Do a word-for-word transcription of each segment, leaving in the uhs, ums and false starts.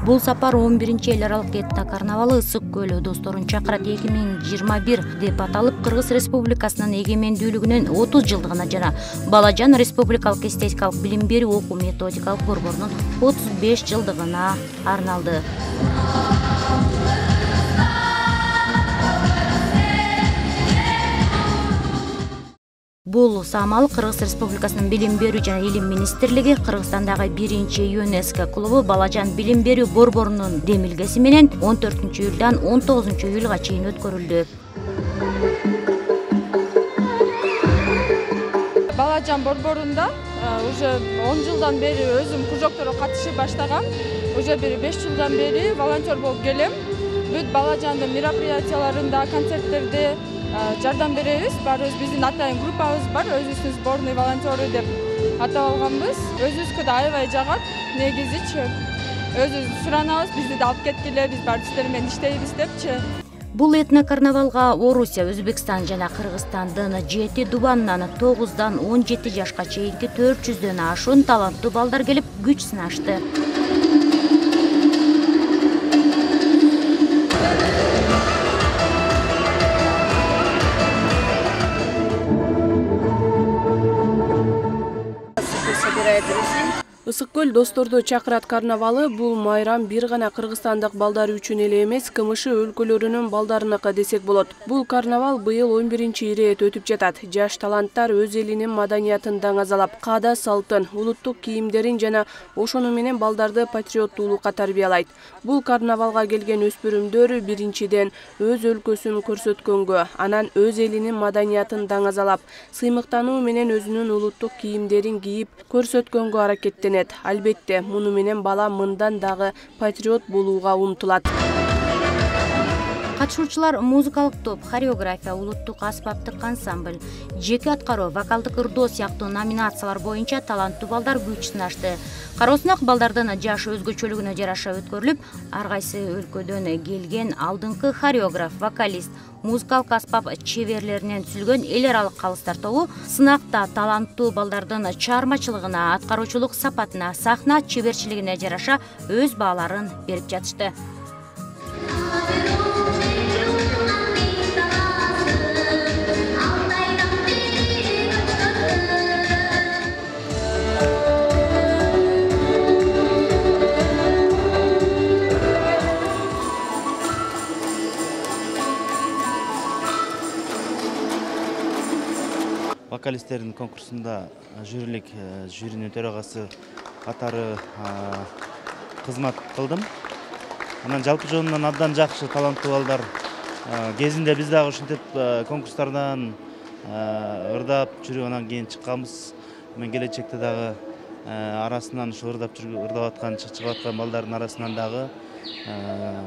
Бул сапар он биринчи эл аралык этно карнавалы Ысык көлү досторун чакырат эки миң жыйырма бир деп аталып, Кыргыз Республикасынын эгемендүүлүгүнүн отуз жылдыгына жана Балажан Республикалык эстетикалык билим берүү окуу методикалык борборунун отуз беш жылдыгына арналды. Бул самал Кыргыз Республикасынын Билим берүү жана Илим министрлиги Кыргызстандагы биринчи ЮНЕСКО клубу Балажан билим берүү борборунун демилгеси менен он төртүнчү июлдан он тогузунчу июлга чейин өткөрүлдү. Балажан борборунда уже он жылдан бери өзүм кружокторго катышып баштагам. Уже бир беш жылдан бери волонтер болуп келем. Бүт Балажандын мероприятияларында, концерттерде жардам беребиз. Барыбыз биздин атайын группабыз бар, өзүбүздүн сборный волонтеры деп атап алганбыз. Өзүбүзгө да аябай жагат. Негизичи өзүбүз суранабыз, бизди да алып кеткиле, биз бар сиздер менен иштейбиз депчи. Бул этно карнавалга Орусия, Өзбекстан жана Кыргызстандын жети дубанынан тогуздан он жети жашка чейинки төрт жүздөн ашуун таланттуу балдар келип күч сынашты. Ысык көл досторду чакырат карнавалы бул майрам бир гана кыргызстандык балдар үчүн эле эмес, КМШ өлкөлөрүнүн балдарыныкы десек болот. Бул карнавал быйыл он биринчи ирет өтүп жатат. Жаш таланттар өз элинин маданиятын даңазалап, каада салтын, улуттук кийимдерин жана ошону менен балдарды патриоттуулукка тарбиялайт. Бул карнавалга келген өспүрүмдөр биринчиден өз өлкөсүн көрсөткөнгө, анан өз элинин маданиятын даңазалап, сыймыктануу менен өзүнүн улуттук кийимдерин кийип көрсөткөнгө аракеттенет. Албетте, муну менен бала мындан дагы патриот болууга умтулат. Катышуучулар музыкалык топ, хореография, улуттук аспаптык ансамбль, жеке аткаруу, вокалдык ырдоо сыяктуу номинациялар боюнча таланттуу балдар күч сынашты. Кароосунак балдардын жаш өзгөчөлүгүнө жараша өткөрүлүп, ар кайсы өлкөдөн келген алдыңкы хореограф, вокалист, музыкалык аспап чеберлеринен түзүлгөн эл аралык калыстар тобу сынакта таланттуу балдардын чыгармачылыгына, аткаруучулук сапатына, сахна чеберчилигине жараша өз бааларын берип жатышты. Вокалисттердин конкурсунда жюрилик жюринин төрагасы катары кызмат кылдым. Анан жалпы жөнүнөн абдан жакшы таланттуу балдар кезинде биз дагы ушинтип конкурстардан ырдап жүрүп анан кийин чыкканбыз. Мен келечекте дагы арасынан ушу ырдап жүрүп ырдап аткан, чыгып аткан балдардын арасынан дагы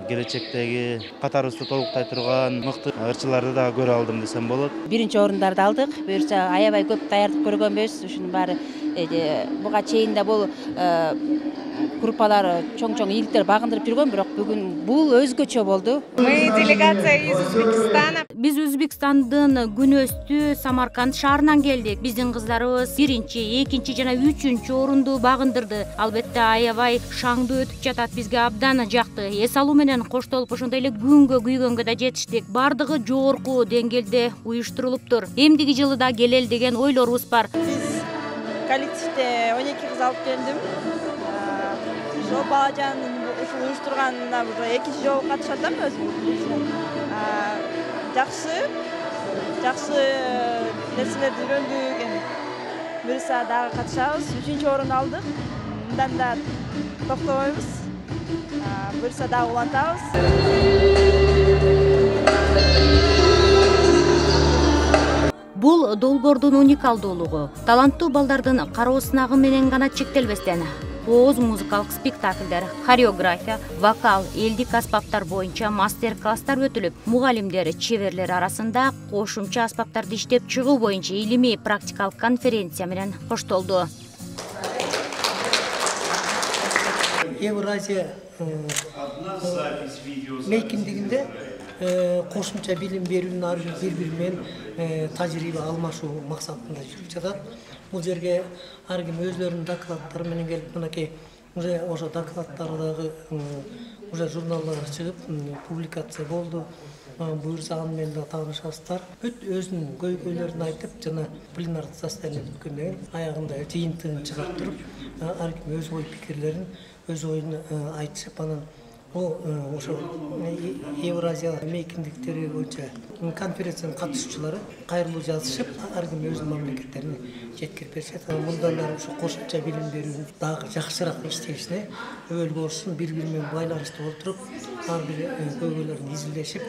келечектеги катарыбызды толуктай турган мыкты ырчыларды да көрө алдым десем болот. Биринчи орундарды алдык. Буюрса аябай көп даярдык көргөнбүз. Ушунун баары буга чейин да бул группалар чоң-чоң ийгиликтер багындырып жүргөн, бирок бүгүн бул өзгөчө болду. Мы делегация из Узбекистана. Биз Өзбекстандын күнөстүү Самарканд шаарынан келдик. Биздин кыздарыбыз биринчи, экинчи жана үчүнчү орунду багындырды. Албетте аябай шаңдуу өтүп жатат. Бизге абдан жакты. Эс алуу менен коштолуп ошондой эле күнгө күйгөнгө да жетиштик. Бардыгы жогорку деңгээлде уюштурулуптур. Эмдиги жылы да келели деген ойлорубуз бар. Биз коллективде он эки кыз алып келдим. Ошо Балажандын ушул уюштурганына уже экинчи жолу катышып атам өзүм. Жакшы, жакшы нерселерди үйрөндүк. Буюрса дагы катышабыз. үчүнчү орун алдык. Мындан да токтобойбуз. Буюрса дагы улантабыз. Бул долбоордун уникалдуулугу таланттуу балдардын кароосунагы менен гана чектелбестен оз музыкалык спектакльдер, хореография, вокал, элдик аспаптар боюнча мастер-класстар өтүлүп, мугалимдер, чеберлер арасында кошумча аспаптарды иштеп чыгуу боюнча илимий практикалык конференция менен коштолду. Евразия мейкиндигинде кошумча билим берүүнүн ар бир бири менен тажрыйба алмашуу максатында жүрүп жатат. Бул жерге ар ким өзлөрүнүн докладдары менен келип, мынакей уже ошо докладдары дагы уже журналдарга чыгып публикация болду. Буюрса аны менен да таанышасыздар. Бүт өзүнүн көйгөйлөрүн айтып, жана пленардык заседание өткөндөн кийин аягында жыйынтыгын чыгарып туруп, ар ким өз ой пикирлерин, өз оюн айтышып, анан бул ошо Евразия мейкиндиктери боюнча конференциянын катышуучулары кайрылуу жазышып, ар ким өзүнүн мамлекеттерине жеткирип беришет. Мындан ары ушу кошумча билим берүүнү дагы жакшыраак иштешине өбөл болушун, бири-бири менен байланыштуу олтуруп, ар бир көйгөйлөрүн изилдешип,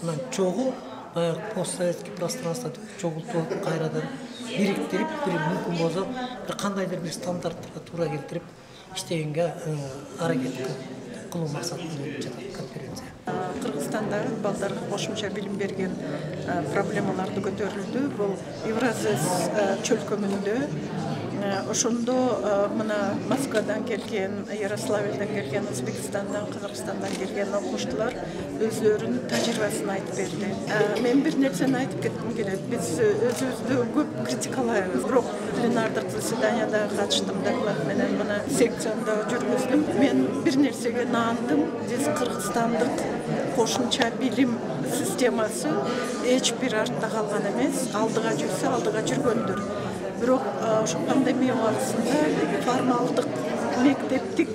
анан чогуу баягы постсоветский пространствода чогултуп кайрадан бириктирип, бир мүмкүн болсо бир кандайдыр бир стандарттарга туура келтирип иштегенге аракет кылуу максатында өтүп жатат конференция. Кыргызстандагы балдарга кошумча билим берген проблемаларды көтөрүлдү. Бул Евразес чөлкөмүндө ошондо мына Москвадан келген, Ярославльдан келген, Өзбекстандан, Кыргызстандан келген окуучулар өзлөрүнүн тажрыйбасын айтып берди. Мен бир нерсени айтып кетким келет. Биз өзүбүздү көп критикалайбыз, бирок пленардык заседанияда катыштым, доклад менен мына секцияда жүргүздүм. Мен бир нерсеге наандым. Биз Кыргызстандык кошумча билим системасы эч бир артта калган эмес, алдыга жүрсө, алдыга жүргөндүр. Бирок ошо пандемия убагында формалдык мектептик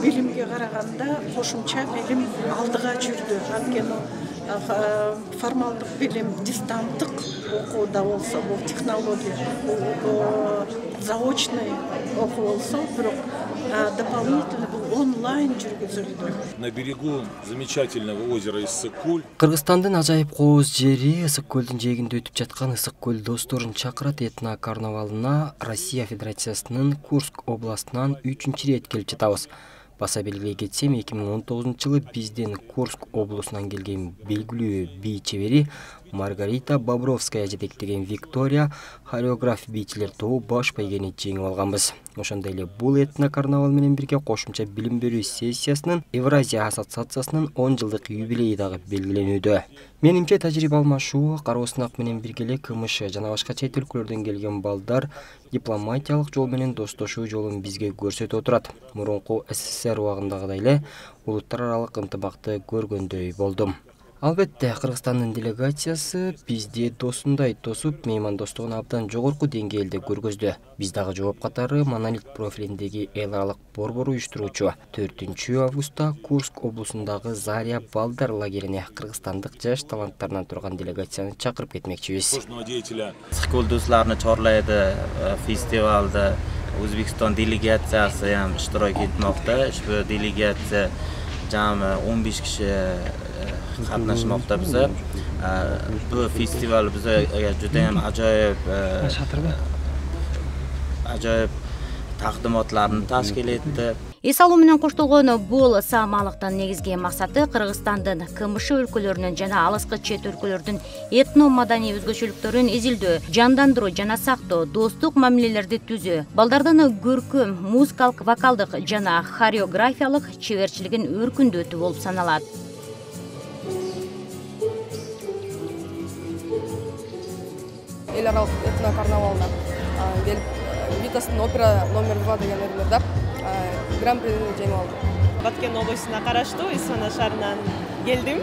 билимге караганда кошумча билим алдыга жүрдү. Анткени формалдык билим дистанттык окууда болсо, бул технология, заочный окуу болсо, бирок дополнительно бул онлайн жүргүзүлдү. На берегу замечательного озера Ысык-Көл. Кыргызстандын ажайып кооз жери Ысык-Көлдүн жээгинде өтүп жаткан Ысык-Көл досторун чакырат этно карнавалына Россия Федерациясынын Курск областынан үчүнчү ирет келип жатабыз. Баса белгилей кетсем, эки миң он тогузунчу жылы биздин Курск облусунан келген белгилүү бий чебери Маргарита Бобровская жетектеген Виктория хореограф бийчилер тобу баш байгени жеңип алганбыз. Ошондой эле бул этно карнавал менен бирге кошумча билим берүү сессиясынын Евразия ассоциациясынын он жылдык юбилейи дагы белгиленүүдө. Менимче тажрыйба алмашуу, кароо сынак менен бирге эле КМШ жана башка чет өлкөлөрдөн келген балдар дипломатиялык жол менен достошуу жолун бизге көрсөтүп отурат. Мурунку СССР убагындагыдай эле улуттар аралык ынтымакты көргөндөй болдум. Албетте, Кыргызстандын делегациясы бизди досундай тосуп, меймандостугун абдан жогорку деңгээлде көргөздү. Биз дагы жооп катары Монолит профилиндеги эл аралык борбор уюштуруучу төртүнчү августта Курск облусундагы Заря балдар лагерине кыргызстандык жаш таланттарынан турган делегацияны чакырып кетмекчибиз. Ысык-Көл досторун чорлайды фестивалда Өзбекстан делегациясы ham иштирок этмокто. Ushbu делегация jami он беш киши катнашмакта биз. Бу фестиваль бизге juda ham ajoyib ajoyib taqdimotlarni tashkil etdi. Эс алуу менен коштолгон бул саамалыктын негизги максаты Кыргызстандын КМШ өлкөлөрүнүн жана алыскы чет өлкөлөрдүн этно маданий өзгөчөлүктөрүн изилдөө, жандандыруу жана сактоо, достук мамилелерди түзүү, балдардын көркөм, музыкалык, вокалдык жана хореографиялык чеберчилигин өркүндөтүү болуп саналат. Эл аралык этно карнавалына келип, Витастын опера номер два деген өрлөрдө гран-прини жеңип алдым. Баткен областына караштуу Исфана шаарынан келдим.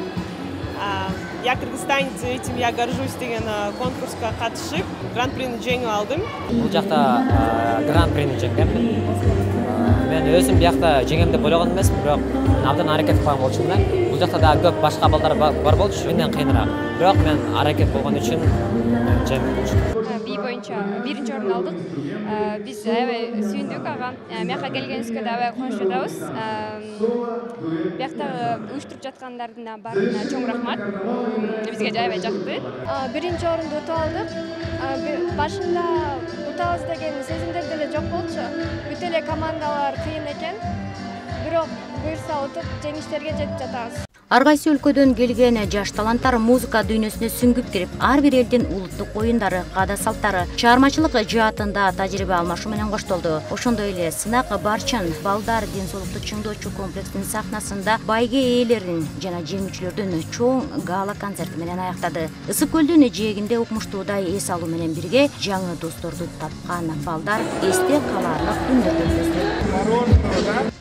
Я кыргызстанец, этим я горжусь деген конкурска катышып, гран-прини жеңип алдым. Бул жакта гран-прини жеңдим. Мен өзүм биякта жеңем деп ойлогон эмесмин, бирок абдан аракет кылган болчумун. Бул жакта да көп башка балдар бар болчу, менден кыйыныраак. Бирок мен аракет болгон үчүн жеңип болчумун. Бий боюнча биринчи орун алдык. Биз аябай сүйүндүк ага. Мияка келгенибизге да аябай кубанычта жатабыз. Биякта уюштуруп жаткандардын баарына чоң рахмат. Бизге аябай жакты. Биринчи орунду утуп алдык. Башында утабыз деген сезимдер деле жок болчу. Бүт эле командалар кыйын экен. Бирок буюрса утуп жеңиштерге жетип жатабыз. Ар кайсы өлкөдөн келген жаш таланттар музыка дүйнөсүнө сүңгүп кирип, ар бир элдин улуттук оюндары, каада салттары, чыгармачылык жаатында тажрыйба алмашуу менен коштолду. Ошондой эле сынак барчан балдар ден соолукту чыңдоочу комплексинин сахнасында байге ээлерин жана жеңүүчүлөрдүн чоң гала концерти менен аяктады. Ысык-Көлдүн жээгинде укмуштуудай эс алуу менен бирге жаңы досторду тапкан балдар эсте калаарлык күндөрдү өткөздү.